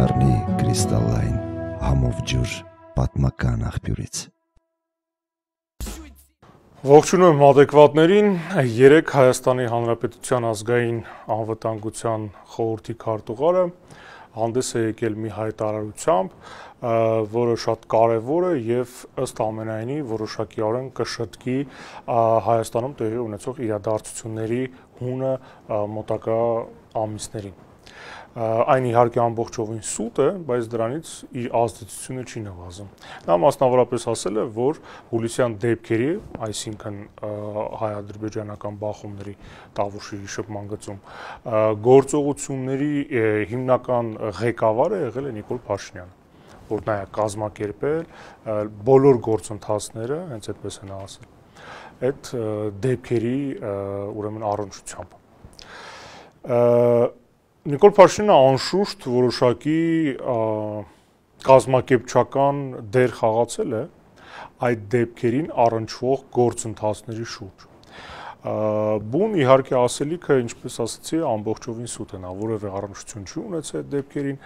կդառնի կրիստալային համով ջուր պատմական աղբյուրից։ Ողջունում adekvatներին, 3 Հայաստանի Հանրապետության ազգային անվտանգության խորհրդի քարտուղարը հանդես է եկել մի հայտարարությամբ, որը շատ կարևոր է եւ ըստ ամենայնի որոշակիորեն կշտկի Հայաստանում տեղի ունեցող իրադարձությունների հունը մոտակա ամիսներին։ Այն իհարկե ամբողջովին սուտ է, բայց դրանից իր ազդեցությունը չի նվազում։ Նա մասնավորապես ասել է, որ հուլիսյան դեպքերի, այսինքն հայ-ադրբեջանական բախումների Տավուշի շփման գծում գործողությունների հիմնական ղեկավարը եղել է Նիկոլ Փաշինյանը, որ նա է կազմակերպել բոլոր գործընթացները, հենց այդպես են ասել, այդ դեպքերի ուրեմն առնչությամբ։ Նիկոլ Փաշինյանը անշուշտ որոշակի կազմակերպչական դեր խաղացել է այդ դեպքերին առնչվող գործընթացների շուրջ։ Բուն իհարկե ասելիքը, ինչպես ասացի, ամբողջովին սուտ է, նա որևէ առնչություն չի ունեցել այդ դեպքերին,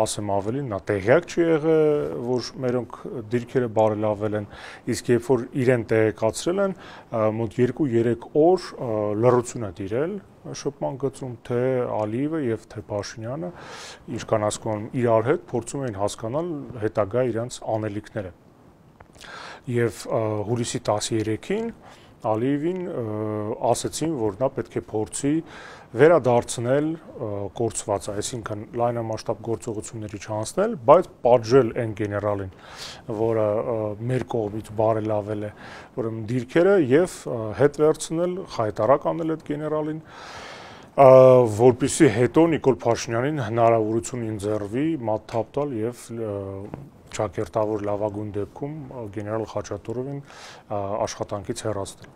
ասեմ ավելին, նա տեղյակ չի եղել, որ մերոնք դիրքերը բարելավել են, իսկ երբ որ իրեն տեղեկացրել են, մոտ 2-3 օր լռություն է տիրել շփման գծում, թե Ալիևը եւ թե Փաշինյանը, ինչքան հասկանում եմ, իրար հետ փորձում էին հասկանալ հետագա իրենց անելիքները։ Եվ հուլիսի 13-ին Ալիևին ասացին, որ նա պետք է փորձի վերադարձնել կորցվածը, այսինքն լայնամասշտաբ գործողությունների չանցնել, բայց պատժել այն գեներալին, որը մեր կողմից բարելավել է ուրեմն դիրքերը եւ հետ վերցնել, խայտարակ անել այդ գեներալին, որպեսզի հետո Նիկոլ Փաշինյանին հնարավորություն ընձեռվի մատթափ տալ եւ ճակերտավոր լավագույն դեպքում գեներալ Խաչատուրովին աշխատանքից հեռացնել։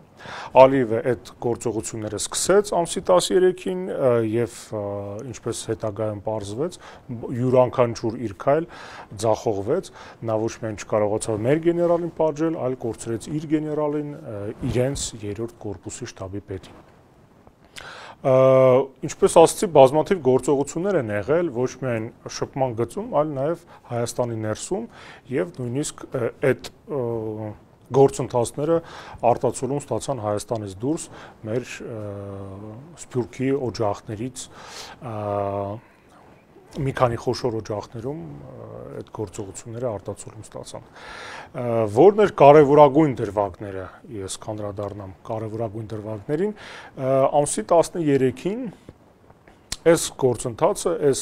Ալիևը այդ գործողությունները սկսեց ամսի 13-ին եւ ինչպես հետագայում պարզվեց, յուրաքանչյուր իր քայլ ձախողվեց, նա ոչ միայն չկարողացավ մեր գեներալին պատժել, այլ կորցրեց իր գեներալին, իրենց 3-րդ կորպուսի շտաբի պետին։ Ինչպես ասացի, բազմաթիվ գործողություններ են եղել ոչ միայն շփման գծում, այլ նաև Հայաստանի ներսում եւ նույնիսկ այդ գործընթացները արտացոլում ստացան Հայաստանից դուրս մեր Սփյուռքի օջախներից մի քանի խոշոր օջախներում այդ գործողությունները արտացոլում ստացան։ Որն էր կարևորագույն դրվագները, ես կանդրադառնամ կարևորագույն դրվագներին, ամսի 13-ին այս գործընթացը, այս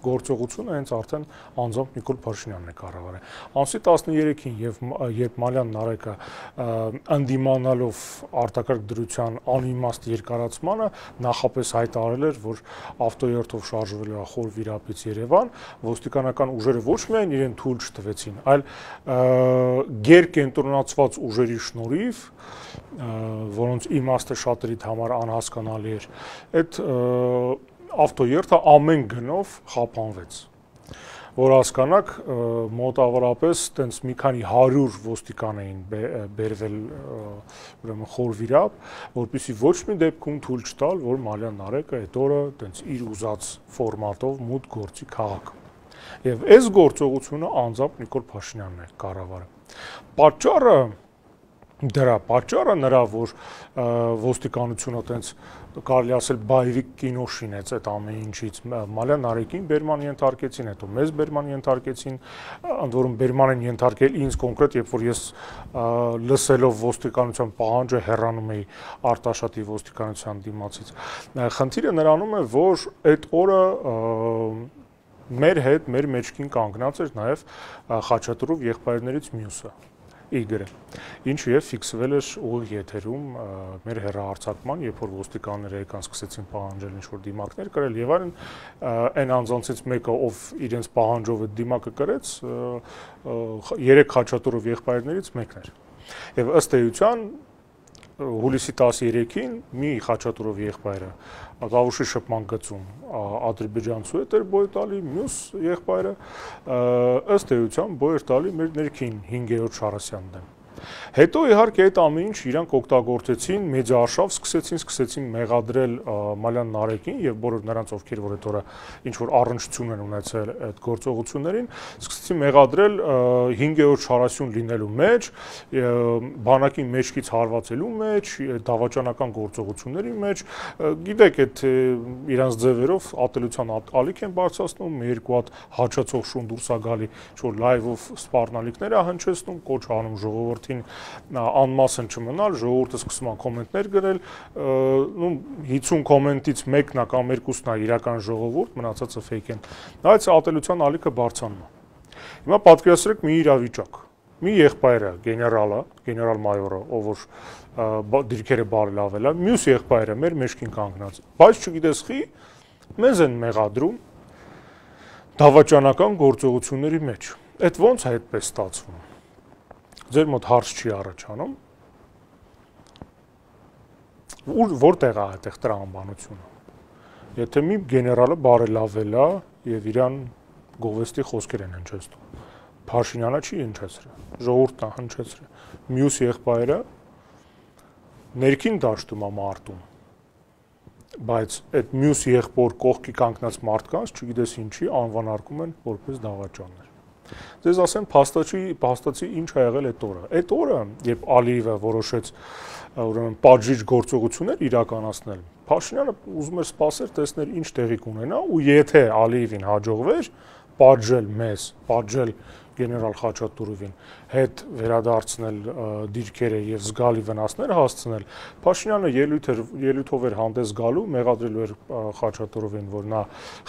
գործողությունը հենց արդեն անձամբ Նիկոլ Փաշինյանն է կառավարել։ Ամսի 13-ին երբ Մալյան Նարեկը ընդդիմանալով արտակարգ դրության անիմաստ երկարացմանը նախապես հայտարարել էր, որ ավտոերթով շարժվելու է Խոր Վիրապից Երևան, ոստիկանական ուժերը ոչ միայն իրեն թույլ չտվեցին, այլ գերկենտրոնացված ուժերի շնորհիվ, որոնց իմաստը շատերիդ համար անհասկանալի էր, այդ ավտոերթը ամեն գնով խափանվեց, որ հասկանաք, մոտավորապես տենց մի քանի 100 ոստիկան էին բերվել ուրեմն Խոր Վիրապ, որպեսզի ոչ մի դեպքում թույլ չտալ, որ Մալյան Նարեկը այդ օրը տենց իր ուզած ֆորմատով մուտք գործի քաղաք։ Եվ այս գործողությունը անձամբ Նիկոլ Փաշինյանն է կառավարել։ Պատճառը նրա, որ ոստիկանությունը տենց կարելի ասել բայվիկ կինո շինեց այդ ամեն ինչից, Մալյան Նարեկին բերման ենթարկեցին, հետո մեզ բերման ենթարկեցին, ընդ որում բերման են ենթարկել ինձ կոնկրետ, երբ որ ես լսելով ոստիկանության պահանջը հեռանում էի Արտաշատի ոստիկանության դիմացից։ Խնդիրը նրանում է, որ այդ օրը մեր հետ, մեր մեջքին կանգնած էր նաև Խաչատուրով եղբայրներից մյուսը, Իգորը, ինչը եւ ֆիքսվել էր ուղիղ եթերում մեր հեռահարցակման, երբ որ ոստիկանները եկան սկսեցին պահանջել ինչ-որ դիմակներ կրել եւ այլն, այն անձանցից մեկը, ով իրենց պահանջով այդ դիմակը կրեց, 3 Խաչատուրով եղբայրներից մեկն էր։ Եվ ըստ էության հուլիսի 13-ին մի Խաչատուրով եղբայրը Տավուշի շփման գծում ադրբեջանցու հետ էր բոյ տալի, մյուս եղբայրը ըստ էության բոյ էր տալի մեր ներքին 5-րդ Շարասյան դեմ։ Հետո իհարկե այդ ամեն ինչ իրանք օգտագործեցին մեծարշավ, սկսեցին մեղադրել Մալյան Նարեկին եւ բոլոր նրանց, ովքեր որ այդ օրը ինչ որ առնչություն են ունեցել այդ գործողություններին, սկսեցին մեղադրել 5-րդ շարասյուն լինելու մեջ, բանակի մեջքից հարվածելու մեջ, դավաճանական գործողությունների մեջ, գիտեք, այդ իրանց ձևերով ատելության ալիք են բարձրացնում, երկու հատ հաճացող շուն դուրս է գալի, որ լայվով սպառնալիքներ է հնչեցնում, կոչ անում ժողովրդին անմասն չմնալ, ժողովուրդը սկսում է կոմենտներ գրել, 50 կոմենտից մեկն է կամ երկուսն է իրական ժողովուրդ, մնացածը ֆեյք են։ Այդ ատելության ալիքը բարձրանում է։ Հիմա պատկերացրեք մի իրավիճակ։ Մի եղբայրը, գեներալ-մայորը, ով որ դիրքերը բարելավել է, մյուս եղբայրը մեր մեջքին կանգնած։ Բայց չգիտես խի, մեզ են մեղադրում դավաճանական գործողությունների մեջ։ Այդ ո՞նց է այդպես ստացվում։ Ձեր մոտ հարց չի առաջանում, որտեղ է այդտեղ տրամաբանությունը։ Եթե մի գեներալը բարելավել է եւ իրան գովեստի խոսքեր են հնչեցնում, Փաշինյանը չի հնչեցրել, ժողովուրդն է հնչեցրել, մյուս եղբայրը ներքին դաշտում է մարտում, բայց այդ մյուս եղբոր կողքի կանգնած մարդկանց, չգիտես ինչի, անվանարկում են որպես դավաճաններ։ Ձեզ ասեմ, փաստացի ինչ ա եղել այդ օրը։ Այդ օրը, երբ Ալիևը որոշեց ուրեմն պատժիչ գործողություններ իրականացնել, Փաշինյանը ուզում էր սպասել, տեսնել ինչ տեղի կունենա, ու եթե Ալիևին հաջողվեր պատժել մեզ, պատժել գեներալ Խաչատուրովին, հետ վերադարձնել դիրքերը եւ զգալի վնասներ հասցնել, Փաշինյանը ելույթով էր հանդես գալու, մեղադրելու էր Խաչատուրովին, որ նա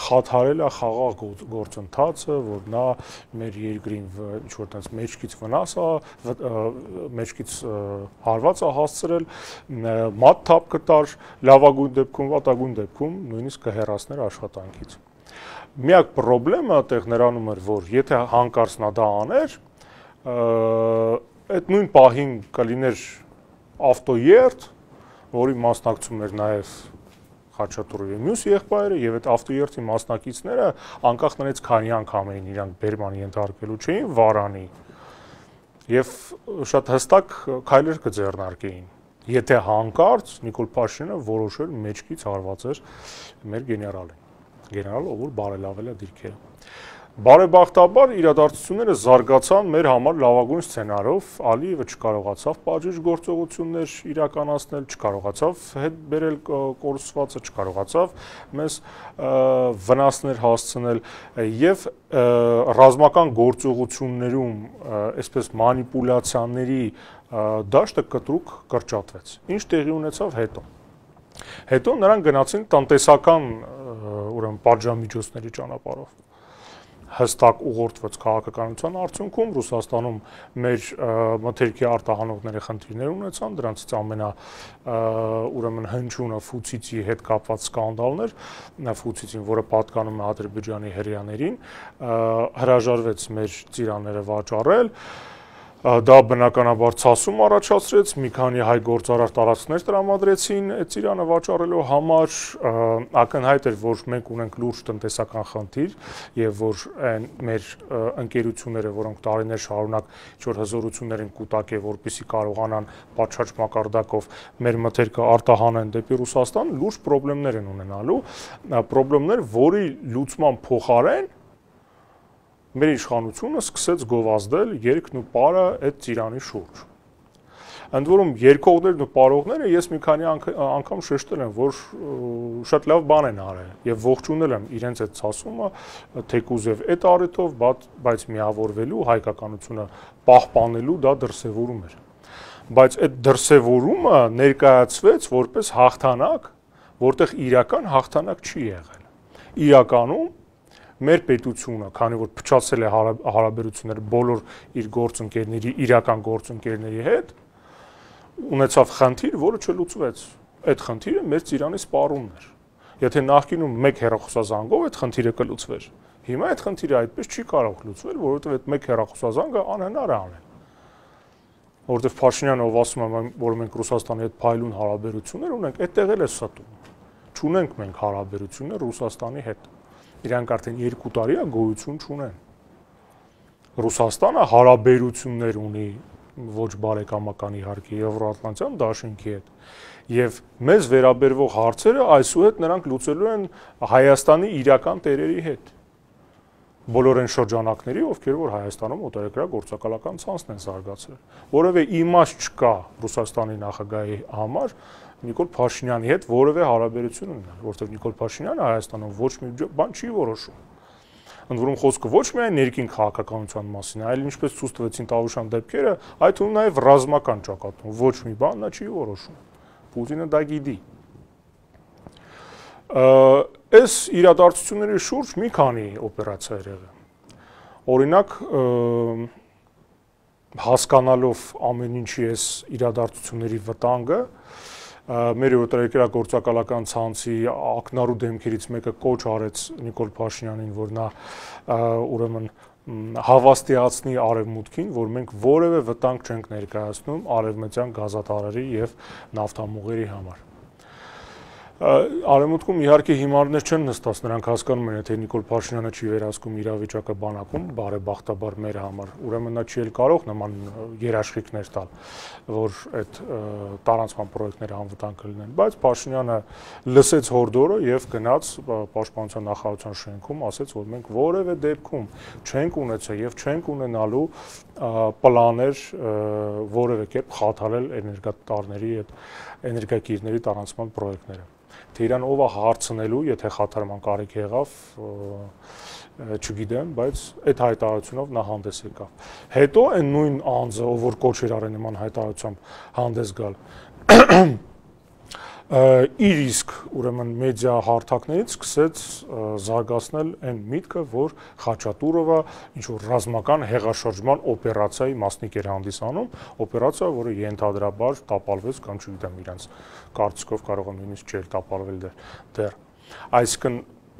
խաթարել է խաղաղ գործընթացը, որ նա մեր երկրին ինչ-որ տես մեջքից վնաս է, մեջքից հարված է հասցրել, մատ թափ կտար, լավագույն դեպքում, վատագույն դեպքում նույնիսկ կհեռացներ աշխատանքից։ Միակ խնդրեմը այդտեղ նրանում էր, որ եթե հանկարծ նա դա աներ, այդ նույն պահին կլիներ ավտոերթ, որի մասնակցում էր նաև Խաչատուրովի մյուս եղբայրը եւ այդ ավտոերթի մասնակիցները անկախ նրանից քանի անգամ էին իրանք բերման ենթարկվելու չէին վարանի եւ շատ հստակ քայլեր կձեռնարկեին։ Եթե հանկարծ Նիկոլ Փաշինյանը որոշեր մեջքից հարվածեր մեր գեներալին։ Գեներալ, ով որ բարելավել է դիրքերը։ Բարեբախտաբար իրադարձությունները զարգացան մեր համար լավագույն սցենարով, Ալիևը չկարողացավ պատժիչ գործողություններ իրականացնել, չկարողացավ հետ բերել կորսվածը, չկարողացավ մեզ վնասներ հասցնել եւ ռազմական գործողություններում այսպես մանիպուլյացիաների դաշտը կտրուկ կրճատվեց։ Ինչ տեղի ունեցավ հետո։ Հետո նրանք գնացին տնտեսական ուրեմն պատժամիջոցների ճանապարհով։ Հստակ ուղղորդված քաղաքականության արդյունքում Ռուսաստանում մեր մթերքի արտահանողները խնդիրներ ունեցան, դրանցից ուրեմն հնչյունը Ֆուցիցի հետ կապված սկանդալներ, Ֆուցիցին, որը պատկանում է Ադրբեջանի հրեաներին, հրաժարվեց մեր ծիրանները վաճառել, դա բնականաբար ցասում առաջացրեց, մի քանի հայ գործարար տարածքներ տրամադրեցին այդ ծիրանը վաճառելու համար, ակնհայտ էր, որ մենք ունենք լուրջ տնտեսական խնդիր եւ որ մեր ընկերությունները, որոնք տարիներ շարունակ ինչ-որ հզորություններ են կուտակել, որպեսզի կարողանան պատշաճ մակարդակով մեր մթերքը արտահանեն դեպի Ռուսաստան, լուրջ խնդիրներ են ունենալու, խնդիրներ, որի լուծման փոխարեն մեր իշխանությունը սկսեց գովազդել երկն ու պարը այդ ծիրանի շուրջ։ Ընդ որում երկողներն ու պարողները ես մի քանի անգամ շեշտել եմ, որ շատ լավ բան են արել եւ ողջունել եմ իրենց այդ ցասումը, թեկուզ եւ այդ առիթով, բայց միավորվելու հայկականությունը պահպանելու դա դրսևորում էր։ Բայց այդ դրսևորումը ներկայացվեց որպես հաղթանակ, որտեղ իրական հաղթանակ չի եղել։ Իրականում մեր պետությունը, քանի որ փչացել է հարաբերություններ բոլոր իր գործընկերների, իրական գործընկերների հետ, ունեցավ խնդիր, որը չլուծվեց։ Այդ խնդիրը մեր ծիրանի սպառումն էր։ Եթե նախկինում մեկ հեռախոսազանգով այդ խնդիրը կլուծվեր, հիմա այդ խնդիրը այդպես չի կարող լուծվել, որովհետև այդ մեկ հեռախոսազանգը անհնար է անել։ Որովհետև Փաշինյանը, ով ասում է, որ մենք Ռուսաստանի հետ փայլուն հարաբերություններ ունենք, այդտեղ էլ է ստում։ Չունենք մենք հարաբերություններ Ռուսաստանի հետ։ Իրանք արդեն 2 տարի է գոյություն չունեն։ Ռուսաստանը հարաբերություններ ունի ոչ բարեկամական իհարկե Եվրոատլանտյան դաշինքի հետ, եւ մեզ վերաբերվող հարցերը այսուհետ նրանք լուծելու են Հայաստանի իրական տերերի հետ։ Բոլոր այն շրջանակների, ովքեր որ Հայաստանում օտարերկրագործակալական ցանցն են զարգացրել։ Որևէ իմաստ չկա Ռուսաստանի նախագահի համար Նիկոլ Փաշինյանի հետ որևէ հարաբերություն ունենալ, որովհետեւ Նիկոլ Փաշինյանը Հայաստանում ոչ մի բան չի որոշում։ Ընդ որում խոսքը ոչ միայն ներքին քաղաքականության մասին, այլ ինչպես ցույց տվեցին Տավուշյան դեպքերը, այդ թվում նաև ռազմական ճակատում ոչ մի բան նա չի որոշում։ Պուտինը դա գիտի։ Այս իրադարձությունների շուրջ մի քանի օպերացիա եղել։ Օրինակ, հասկանալով ամեն ինչի այս իրադարձությունների վտանգը, մեր օտարերկրագործակալական ցանցի ակնառու դեմքերից մեկը կոչ արեց Նիկոլ Փաշինյանին, որ նա ուրեմն հավաստիացնի արևմուտքին, որ մենք որևէ վտանգ չենք ներկայացնում արևմտյան գազատարների եւ նավթամուղերի համար։ Արևմուտքում իհարկե հիմարներ չեն նստած, նրանք հասկանում են, թե Նիկոլ Փաշինյանը չի վերահսկում իրավիճակը բանակում, բարեբախտաբար մեր համար, ուրեմն նա չի էլ կարող նման երաշխիքներ տալ, որ այդ տարանցման պրոյեկտները անվտանգ կլինեն, բայց Փաշինյանը լսեց հորդորը եւ գնաց Պաշտպանության նախարարության շենքում, ասեց, որ մենք որևէ դեպքում չենք ունեցել եւ չենք ունենալու պլաններ որևէ կերպ խաթարել էներգատարների այդ էներգակիրների տարանցման պրոյեկտները։ Թե իրան ով է հարցնելու, եթե խաթարման կարիք եղավ, չգիտեմ, բայց այդ հայտարարությունով նա հանդես եկավ։ Հետո այն նույն անձը, ով որ կոչ էր արել նման հայտարարությամբ հանդես գալ, իր իսկ ուրեմն մեդիա հարթակներից սկսեց զարգացնել այն միտքը, որ Խաչատուրովը ինչ որ ռազմական հեղաշրջման օպերացիայի մասնիկ էր հանդիսանում, օպերացիա, որը ենթադրաբար տապալվեց կամ չգիտեմ իրանց կարծիքով կարող է նույնիսկ չէր տապալվել դեռ։ Այսինքն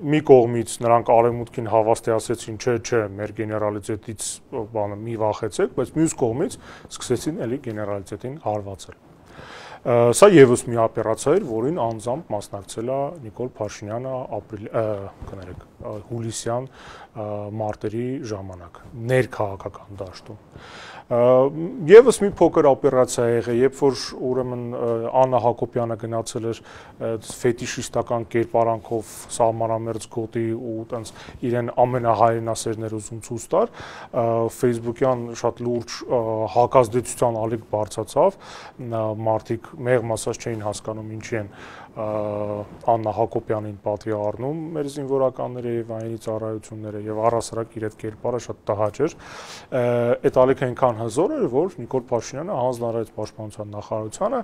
մի կողմից նրանք արևմուտքին հավաստիացրեցին, չէ, մեր գեներալիտետից բանը մի վախեցեք, բայց մյուս կողմից սկսեցին էլի գեներալիտետին հարվածել։ Սա եւս մի օպերացիա էր, որին անձամբ մասնակցել է Նիկոլ Փաշինյանը հուլիսյան մարտերի ժամանակ ներքաղաքական դաշտում։ Եվս մի փոքր օպերացիա եղել, երբ որ ուրեմն Աննա Հակոբյանը գնացել էր ֆետիշիստական կերպարանքով սահմանամերձ գոտի ու տենց իրեն ամենահայրենասերներ ուզում ցույց տար, Facebook-յան շատ լուրջ հակազդեցության ալիք բարձրացավ, մարդիկ մեղմ ասած չէին հասկանում ինչի են Աննա Հակոբյանին պատվի առնում մեր զինվորականները եւ այնի ծառայությունները եւ առասարակ իր այդ կերպարը շատ տհաճ էր։ Այդ ալիքը այնքան հզոր էր, որ Նիկոլ Փաշինյանը հանձնարարեց Պաշտպանության նախարարությանը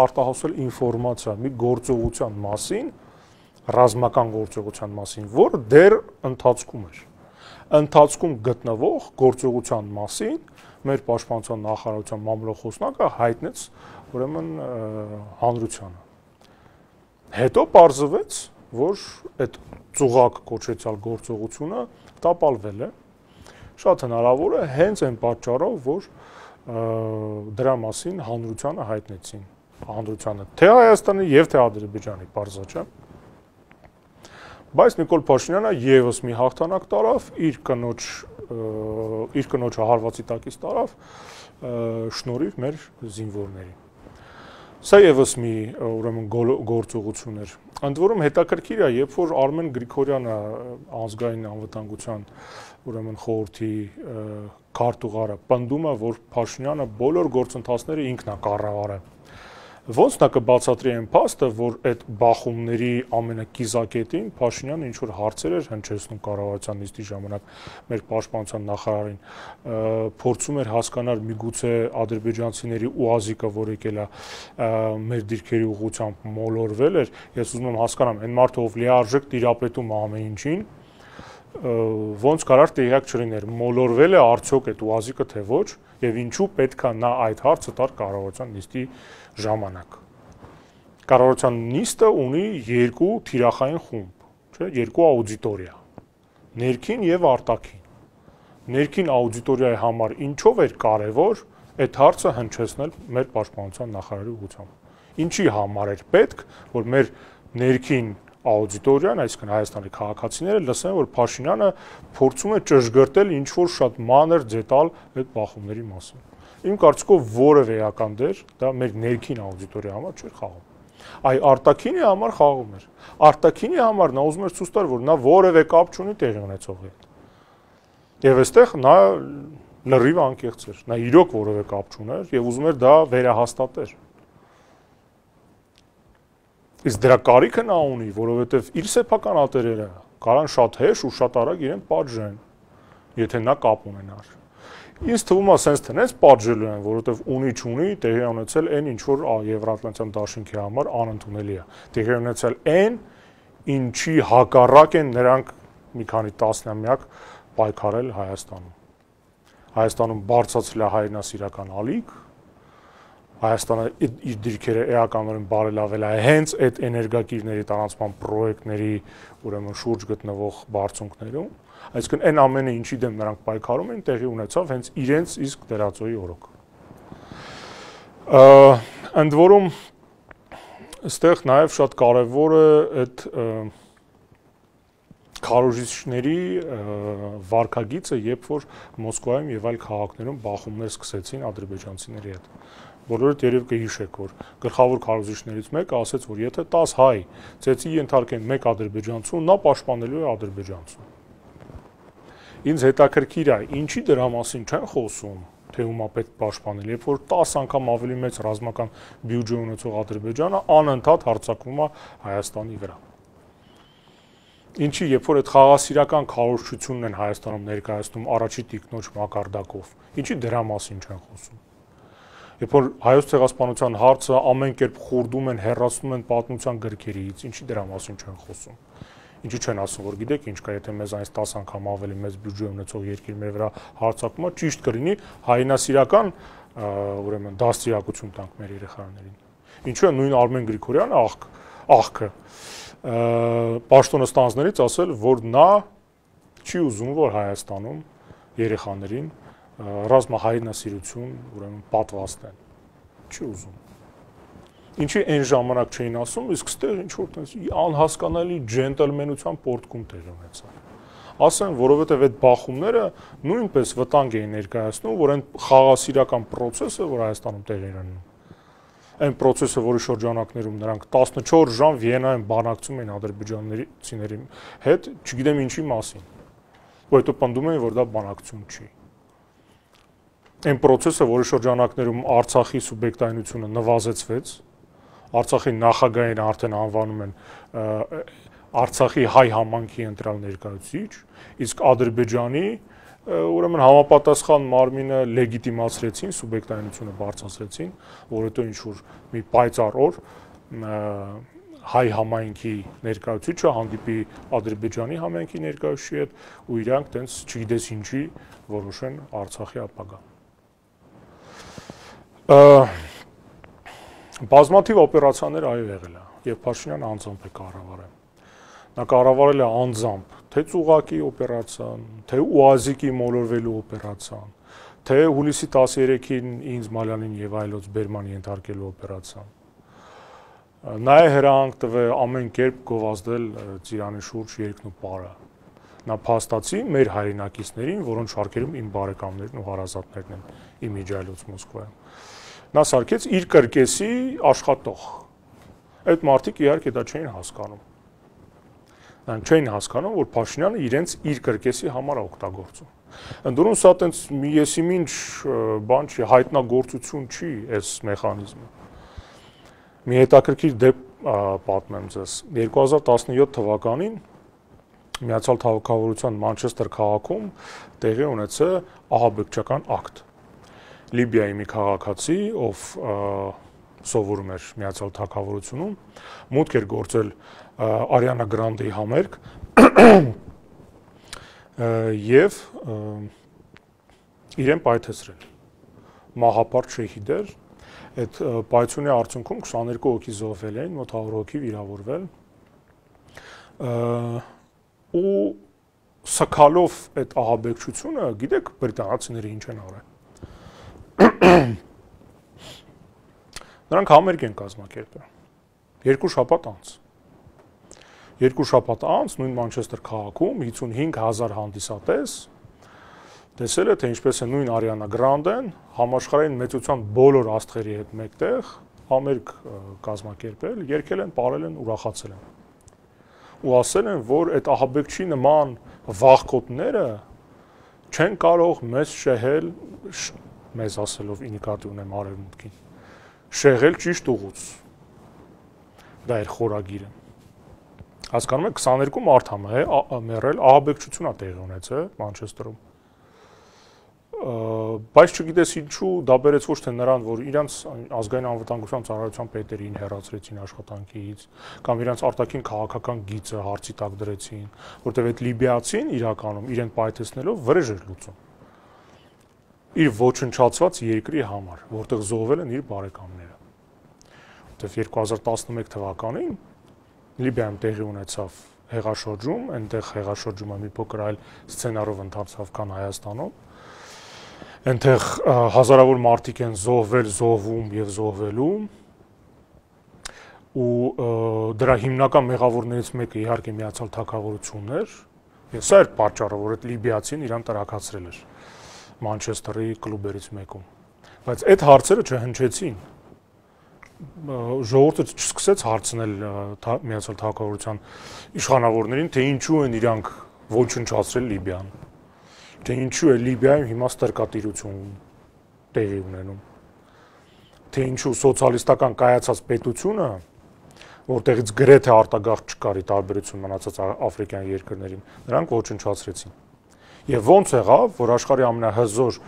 արտահոսել ինֆորմացիա մի գործողության մասին, ռազմական գործողության մասին, որը դեռ ընթացքում էր։ Ընթացքում գտնվող գործողության մասին մեր Պաշտպանության նախարարության մամլոխոսնակը հայտնեց ուրեմն հանրությանը։ Հետո պարզվեց, որ այդ ծուղակ կոչեցյալ գործողությունը տապալվել է։ Շատ հնարավոր է հենց այն պատճառով, որ դրա մասին հանրությանը հայտնեցին։ Հանրությանը թե Հայաստանի եւ թե Ադրբեջանի, պարզա չէ։ Բայց Նիկոլ Փաշինյանը եւս մի հաղթանակ տարավ, իր կնոջը հարվածի տակից տարավ, շնորհիվ մեր զինվորների։ Սա եւս մի ուրեմն գործողություն էր։ Ընդ որում հետաքրքիր է, երբ որ Արմեն Գրիգորյանը ազգային անվտանգության ուրեմն խորհրդի քարտուղարը պնդում է, որ Փաշինյանը բոլոր գործընթացները ինքն է կառավարել։ Ոնց նա կբացատրի այն փաստը, որ այդ բախումների ամենակիզակետին Փաշինյանը ինչ որ հարցեր էր հնչեցնում կառավարության նիստի ժամանակ մեր պաշտպանության նախարարին, փորձում էր հասկանալ միգուցե ադրբեջանցիների ուազիկը, որ եկել է մեր դիրքերի ուղղությամբ մոլորվել էր, ես ուզում եմ հասկանամ, այն մարդը ով լիարժեք տիրապետում ամեն ինչին, ոնց կարար տեղյակ չլիներ, մոլորվել է արդյոք այդ ուազիկը թե ոչ, եւ ինչու պետք է նա այդ հարցը տար կառավարության նիստի ժամանակ։ Կառավարության նիստը ունի երկու թիրախային խումբ, չէ, երկու աուդիտորիա, ներքին եւ արտաքին։ Ներքին աուդիտորիայի համար ինչով էր կարեւոր այդ հարցը հնչեցնել մեր պաշտպանության նախարարի ուղղությամբ։ Ինչի համար էր պետք, որ մեր ներքին աուդիտորիան, այսինքն Հայաստանի քաղաքացիները լսեն, որ Փաշինյանը փորձում է ճշգրտել ինչ-որ շատ մանր դետալ այդ բախումների մասին։ Իմ կարծիքով որևէ էական դեր դա մեր ներքին աուդիտորիայի համար չէր խաղում։ Այ արտաքինի համար խաղում էր։ Արտաքինի համար նա ուզում էր ցույց տալ, որ նա որևէ կապ չունի տեղի ունեցողի հետ։ Եվ այստեղ նա լրիվ անկեղծ էր։ Նա իրոք որևէ կապ չուներ եւ ուզում էր դա վերահաստատել։ Իսկ դրա կարիքը նա ունի, որովհետեւ իր սեփական ատերերը կարան շատ հեշ ու շատ արագ իրեն պատժեն, եթե նա կապ ունենար։ Ինձ թվում է sense տնես պատժելու են, որովհետեւ ունի-չունի տեղի ունեցել այն ինչ որ Եվրատլանտյան դաշինքի համար անընդունելի է։ Տեղի ունեցել այն, ինչի հակառակ են նրանք մի քանի տասնամյակ պայքարել Հայաստանում։ Հայաստանում բարձրացել է հայրենասիրական ալիք, Հայաստանը իր դիրքերը էականորեն բարելավել է հենց այդ էներգակիրների տարանցման պրոյեկտների ուրեմն շուրջ գտնվող բարձունքներում, այսինքն այն ամենը ինչի դեմ նրանք պայքարում են տեղի ունեցավ հենց իրենց իսկ դերածոյի օրոք։ Ընդ որում այստեղ նաև շատ կարևոր է այդ քարոզիչների վարկագիծը, երբ որ Մոսկվայում եւ այլ քաղաքներում բախումներ սկսեցին ադրբեջանցիների հետ։ Բոլորդ երևի կհիշեք, որ գլխավոր քարոզիչներից մեկը ասաց, որ եթե 10 հայ ծեծի ենթարկեն մեկ ադրբեջանցու, նա պաշտպանելու է ադրբեջանցուն։ Ինձ հետաքրքիր է, ինչի դրա մասին չեն խոսում, թե ումա պետք պաշտպանել, երբ որ 10 անգամ ավելի մեծ ռազմական բյուջե ունեցող Ադրբեջանը անընդհատ հարձակվում է Հայաստանի վրա։ Ինչի, երբ որ այդ խաղաղասիրական քարոզչությունն են Հայաստանում ներկայացնում առաջի տիկնոջ մակարդակով, ինչի դրա մասին չեն խոսում։ Երբ որ հայոց ցեղասպանության հարցը ամեն կերպ խորդում են, հեռացնում են պատմության գրքերից, ինչի դրա մասին չեն խոսում։ Ինչի չեն ասում, որ գիտեք ինչ կա, եթե մեզ այնց 10 անգամ ավելի մեծ բյուջե ունեցող երկիր մեր վրա հարձակումը ճիշտ կլինի հայրենասիրական ուրեմն դաստիարակություն տանք մեր երեխաներին։ Ինչու է նույն Արմեն Գրիգորյանը աղքը պաշտոնը ստանձներից ասել, որ նա չի ուզում, որ Հայաստանում երեխաներին ռազմահայրենասիրություն ուրեմն պատվաստեն։ Չի ուզում։ Ինչի այն ժամանակ չէին ասում, իսկ ստեղ ինչ որ տես անհասկանալի ջենտլմենության պորտկում տեղ ունեցավ։ Ասեն, որովհետև այդ բախումները նույնպես վտանգ էին ներկայացնում, որ այն խաղաղասիրական process-ը, որ Հայաստանում տեղի էր ունենում, այն process-ը, որի շրջանակներում նրանք 14 ժամ Վիեննայում բանակցում էին ադրբեջանցիների հետ, չգիտեմ ինչի մասին։ Ու հետո պնդում էին, որ դա բանակցություն չի։ Այն process-ը, որի շրջանակներում Արցախի սուբյեկտայնությունը նվազեցվեց, Արցախի նախագահին արդեն անվանում են Արցախի հայ համանքի ընտրալ ներկայացուցիչ, իսկ Ադրբեջանի ուրեմն համապատասխան մարմինը լեգիտիմացրեցին, սուբյեկտայնությունը բարձրացրեցին, որ հետո ինչ որ մի պայծառ օր հայ համայնքի ներկայացուցիչը հանդիպի Ադրբեջանի համայնքի ներկայացուցիչի հետ ու իրանք տենց չգիտես ինչի որոշեն Արցախի ապագա։ Բազմաթիվ օպերացիաներ այո եղել է, եւ Փաշինյանը անձամբ է կառավարել։ Նա կառավարել է անձամբ թե ծուղակի օպերացիան, թե ՈՒԱԶԻԿ-ի մոլորվելու օպերացիան, թե հուլիսի 13-ին ինձ Մալյանին եւ այլոց բերման ենթարկելու օպերացիան։ Նա է հրահանգ տվել ամեն կերպ գովազդել Ծիրանի շուրջ երկն ու պարը։ Նա փաստացի մեր հայրենակիցներին, որոնց շարքերում իմ բարեկամներն ու հարազատներն են իմիջայլոց Մոսկվայում։ Նա սարքեց իր կրկեսի աշխատող։ Այդ մարդիկ իհարկե դա չէին հասկանում։ Նրանք չէին հասկանում, որ Փաշինյանը իրենց իր կրկեսի համար օգտագործում։ Ընդդուրում սա տենց մի եսիմինչ բան չի, հայտնագործություն չի այս մեխանիզմը։ Մի հետաքրքիր դեպք պատմեմ ձեզ։ 2017 թվականին Միացյալ Թագավորության Մանչեսթեր քաղաքում տեղի ունեցել ահաբեկչական ակտ։ Լիբիայի մի քաղաքացի, ով սովորում էր Միացյալ Թագավորությունում, մուտք էր գործել Արիանա Գրանդեի համերգ եւ իրեն պայթեցրել։ Մահապարտ շեհիդ էր, այդ պայթյունի արդյունքում 22 հոգի զոհվել էին, մոտ 100 հոգի վիրավորվել։ Ու սքալով այդ ահաբեկչությունը, գիտեք, բրիտանացիները ինչ են արել։ Նրանք համերգ են կազմակերպել 2 շաբաթ անց։ Երկու շաբաթ անց նույն Մանչեսթեր քաղաքում 55,000 հանդիսատես տեսել է, թե ինչպես է նույն Ariana Grande-ն համաշխարհային մեծության բոլոր աստղերի հետ մեկտեղ համերգ կազմակերպել, երգել են, պարել են, ուրախացել են։ Ու ասել են, որ այդ ահաբեկչի նման վախկոտները չեն կարող մեզ շեղել, մեզ ասելով ինիկատիվ ունեմ արևմուտքին, շեղել ճիշտ ուղուց։ Դա էր խորագիրը։ Հասկանում եք, 22 մարդ է մեռել, ահաբեկչություն է տեղի ունեցել Մանչեսթերում։ Բայց չգիտես ինչու դա բերեց ոչ թե նրան, որ իրանց ազգային անվտանգության ծառայության պետերին հեռացրեցին աշխատանքից, կամ իրանց արտաքին քաղաքական գիծը հարցի տակ դրեցին, որտեղ այդ լիբիացին իրականում իրեն պայթեցնելով վրեժ էր լուծում։ Իր ոչնչացված երկրի համար, որտեղ զոհվել են իր բարեկամները։ Որտեղ 2011 թվականին Լիբիայում տեղի ունեցավ հեղաշրջում, այնտեղ հեղաշրջումը մի փոքր այլ սցենարով ընթացավ, քան Հայաստանում։ Այնտեղ հազարավոր մարդիկ են զոհվել, զոհվում եւ զոհվելու։ Ու դրա հիմնական մեղավորներից մեկը իհարկե Միացյալ Թագավորությունն էր։ Եվ սա էր պատճառը, որ այդ լիբիացին իրան տրաքացրել էր Մանչեսթերի կլուբերից մեկում։ Բայց այդ հարցերը չհնչեցին։ Ժողովուրդը չսկսեց հարցնել Միացյալ Թագավորության իշխանավորներին, թե ինչու են իրանք ոչնչացրել Լիբիան, թե ինչու է Լիբիայում հիմա ստրկատիրություն տեղի ունենում, թե ինչու սոցիալիստական կայացած պետությունը, որտեղից գրեթե արտագաղթ չկար ի տարբերություն մնացած աֆրիկյան երկրներին, նրանք ոչնչացրեցին։ Եվ ոնց եղավ, որ աշխարհի ամենահզոր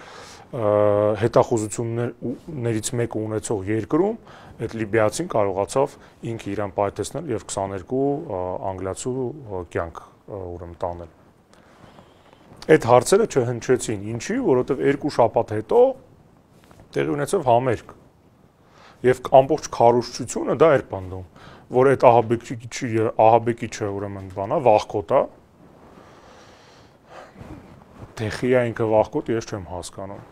հետախուզություններից մեկը ունեցող երկրում այդ լիբիացին կարողացավ ինքը իրան պայթեցնել եւ 22 անգլիացու կյանք ուրեմն տանել։ Այդ հարցերը չհնչեցին, ինչի, որովհետեւ 2 շաբաթ հետո տեղի ունեցավ համերգ։ Եվ ամբողջ քարոզչությունը դա էր պնդում, որ այդ ահաբեկիչը ուրեմն բանա, վախկոտ է։ Տեխիա ինքը վախկոտ, ես չեմ հասկանում։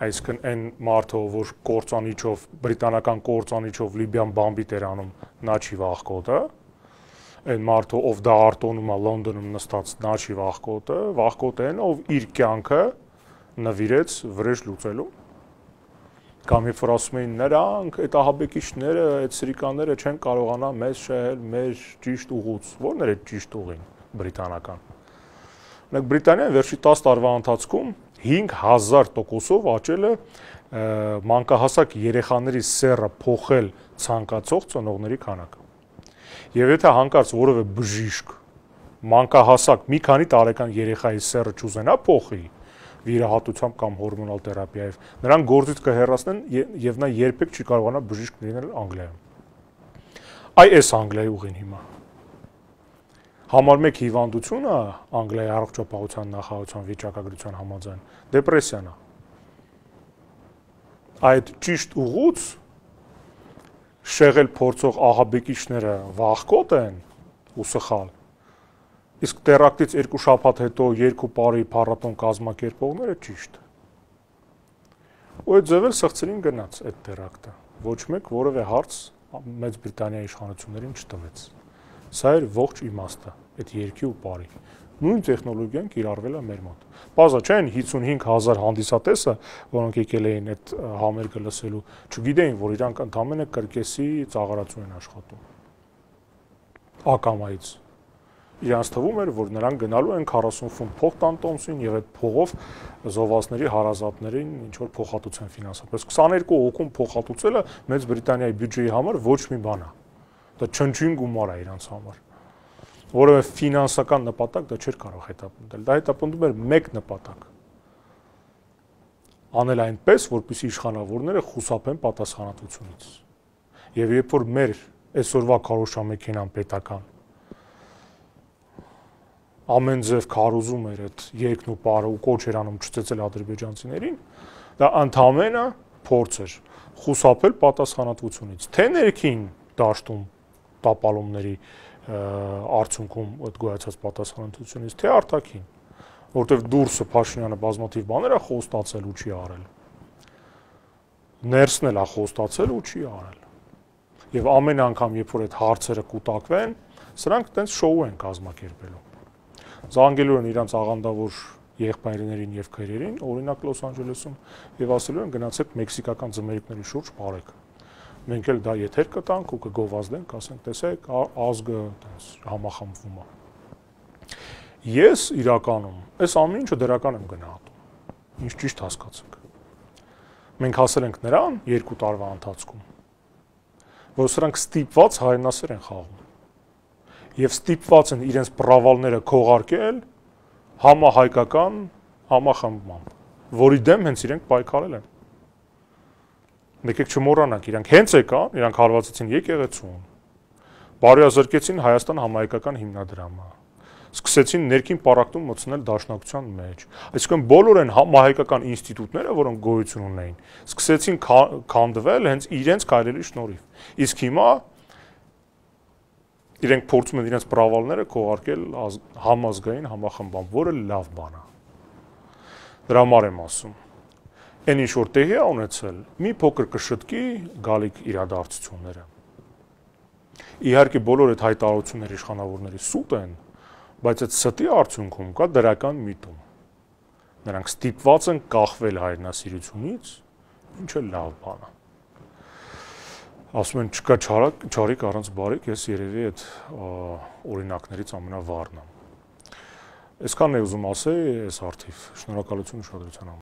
Այսինքն այն մարդը, որ կործանիչով, բրիտանական կործանիչով Լիբիան բամբիտ էր անում, նա չի վախկոտը։ Այն մարդը, ով դա արտոնում է Լոնդոնում նստած, նա չի վախկոտը, վախկոտ են, ով իր կյանքը նվիրեց վրեժ լուծելու։ Կամ երբ որ ասում էին նրանք, այդ ահաբեկիչները, այդ սրիկանները չեն կարողանա մեզ շահել մեր ճիշտ ուղուց։ Ո՞րն էր այդ ճիշտ ուղին բրիտանական։ Մենք Բրիտանիան վերջի 10 տարվա ընթացքում 5000%-ով աճել է մանկահասակ երեխաների սեռը փոխել ցանկացող ծնողների քանակը։ Եվ եթե հանկարծ որևէ բժիշկ մանկահասակ մի քանի տարեկան երեխայի սեռը չուզենա փոխի վիրահատությամբ կամ հորմոնալ թերապիայով, նրան գործից կհեռացնեն եւ նա երբեք չի կարողանա բժիշկ լինել Անգլիայում։ Այ էս Անգլիայի ուղին հիմա։ Համար 1 հիվանդությունը Անգլիայի առողջապահության նախարարության վիճակագրության համաձայն դեպրեսիան է։ Այդ ճիշտ ուղուց շեղել փորձող ահաբեկիչները վախկոտ են ու սխալ։ Իսկ տերակտից 2 շաբաթ հետո 2 տարի փառատոն կազմակերպողները ճիշտ։ Ու այդ ձևել սղծերին գնաց այդ տերակտը։ Ոչ մեկ որևէ հարց Մեծ Բրիտանիայի իշխանություններին չտվեց։ Սա էր ողջ իմաստը, այդ երկի ու բարի։ Նույն տեխնոլոգիան կիրառվել է մեր մոտ։ Բազա չեն 55,000 հանդիսատեսը, որոնք եկել էին այդ համերգը լսելու, չգիտեին, որ իրանք ընդամենը կրկեսի ծաղարացու են աշխատում։ Ակամայից։ Իրանց թվում էր, որ նրանք գնալու են 40 ֆունտ փող տան տոմսին եւ այդ փողով զովասների հարազատներին ինչ որ փոխհատուցեն ֆինանսապես։ 22 հոգում փոխհատուցելը Մեծ Բրիտանիայի բյուջեի համար ոչ մի բան է։ Դա չնչին գումար է իրանց համար։ Որովհետև ֆինանսական նպատակ դա չէր կարող հետապնդել։ Դա հետապնդում էր մեկ նպատակ։ Անել այնպես, որպեսզի իշխանավորները խուսափեն պատասխանատվությունից։ Եվ երբ որ մեր այսօրվա քարոզչամեքենան պետական ամեն ձև քարոզում էր այդ երկն ու պարը ու կոչ էր անում չծեծել ադրբեջանցիներին, դա ընդամենը փորձ էր խուսափել պատասխանատվությունից։ Թե ներքին դաշտում տապալումների արդյունքում այդ գոյացած պատասխանատվությունից, թե արտաքին, որտեղ դուրսը Փաշինյանը բազմաթիվ բաներ է խոստացել ու չի արել։ Ներսն էլ է խոստացել ու չի արել։ Եվ ամեն անգամ, երբ որ այդ հարցերը կուտակվեն, Սրանք տենց շոու են կազմակերպելու։ Զանգելու են իրանց աղանդավոր եղբայրներին եւ քրերին, օրինակ Լոս Անջելեսում, եւ ասելու են գնացեք մեքսիկական ձմերիկների շուրջ բարեք։ Մենք էլ դա եթեր կտանք ու կգովազդենք, ասենք, տեսեք, ազգը տենց համախմբվում է։ Ես իրականում այս ամեն ինչը դրական եմ գնահատում։ Ինչ ճիշտ հասկացեք։ Մենք հասել ենք նրան 2 տարվա ընթացքում, որ սրանք ստիպված հայրենասեր են խաղում։ Եվ ստիպված են իրենց պրավալները քողարկել համահայկական համախմբմամբ, որի դեմ հենց իրենք պայքարել են։ Եկեք չմոռանանք, իրանք հենց եկան, իրանք հարվածեցին եկեղեցուն, բարոյազրկեցին Հայաստան համահայկական հիմնադրամը, սկսեցին ներքին պառակտում մտցնել դաշնակցության մեջ։ Այսինքն բոլոր են համահայկական ինստիտուտները, որոնք գոյություն ունեին, սկսեցին քանդվել հենց իրենց քայլերի շնորհիվ։ Իսկ հիմա իրենք փորձում են իրենց պրավալները քողարկել համազգային համախմբամբ, որը լավ բան է։ Դրա համար եմ ասում։ Այն ինչ որ տեղի է ունեցել, մի փոքր կշտկի գալիք իրադարձությունները։ Իհարկե բոլոր այդ հայտարարությունները իշխանավորների սուտ են, բայց այդ ստի արդյունքում կա դրական միտում։ Նրանք ստիպված են կախվել հայրենասիրությունից, ինչը լավ բան է։ Ասում են չկա չարիք առանց բարիք, ես երևի այդ օրինակներից ամենավառն եմ։ Այսքանն է ուզում ասել այս հարթիվ։ Շնորհակալություն ուշադրության համար։